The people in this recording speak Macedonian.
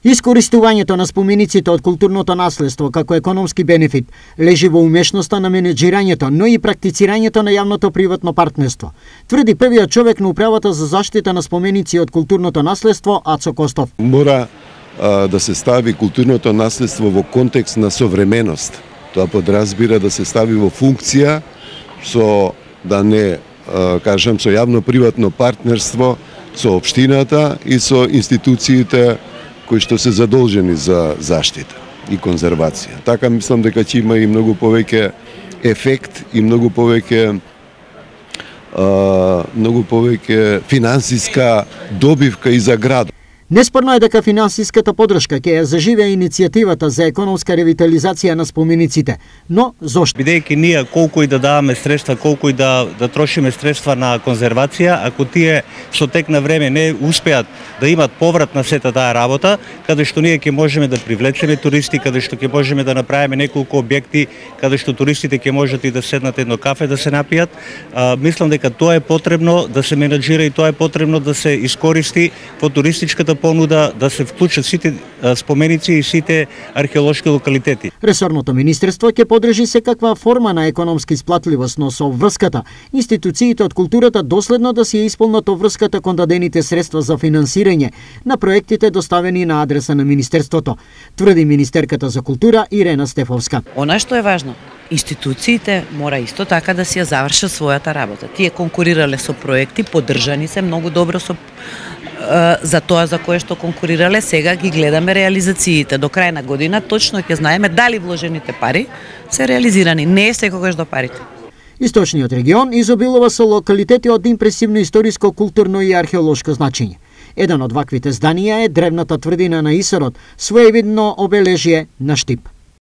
Искористувањето на спомениците од културното наследство како економски бенефит лежи во умешноста на менеџирањето, но и практицирањето на јавното-приватно партнерство, тврди првиот човек на управата за заштита на споменици од културното наследство Ацо Костов. Мора да се стави културното наследство во контекст на современост. Тоа подразбира да се стави во функција со, да не кажам, со јавно-приватно партнерство со општината и со институциите кои што се задолжени за заштита и конзервација. Така мислам дека ќе има и многу повеќе ефект и многу повеќе финансиска добивка и за градот. Неспорно е дека финансиската поддршка ќе ја заживее иницијативата за економска ревитализација на спомениците, но зошто? Бидејќи ние колку и да даваме средства, колку и да трошиме средства на конзервација, ако тие со тек на време не успеат да имат поврат на сета таа работа, каде што ние ќе можеме да привлечеме туристи, каде што ќе можеме да направиме неколку објекти, каде што туристите ќе можат и да седнат едно кафе да се напијат, мислам дека тоа е потребно да се менаџира и тоа е потребно да се искористи во туристичката понуда, да се вклучат сите споменици и сите археолошки локалитети. Ресорното министерство ќе подржи секаква форма на економска исплатливост, но со врската институциите од културата доследно да си ја исполнат врската кон дадените средства за финансирање на проектите доставени на адреса на министерството, тврди министерката за култура Ирена Стефовска. Она што е важно, институциите мора исто така да си ја завршат својата работа. Тие конкурирале со проекти, поддржани се многу добро со за тоа за кое што конкурирале, сега ги гледаме реализациите. До крај на година точно ќе знаеме дали вложените пари се реализирани. Не е секогаш до парите. Источниот регион изобилува со локалитети од импресивно историско, културно и археолошко значење. Еден од ваквите зданија е древната тврдина на Исарот, своевидно обележје на Штип.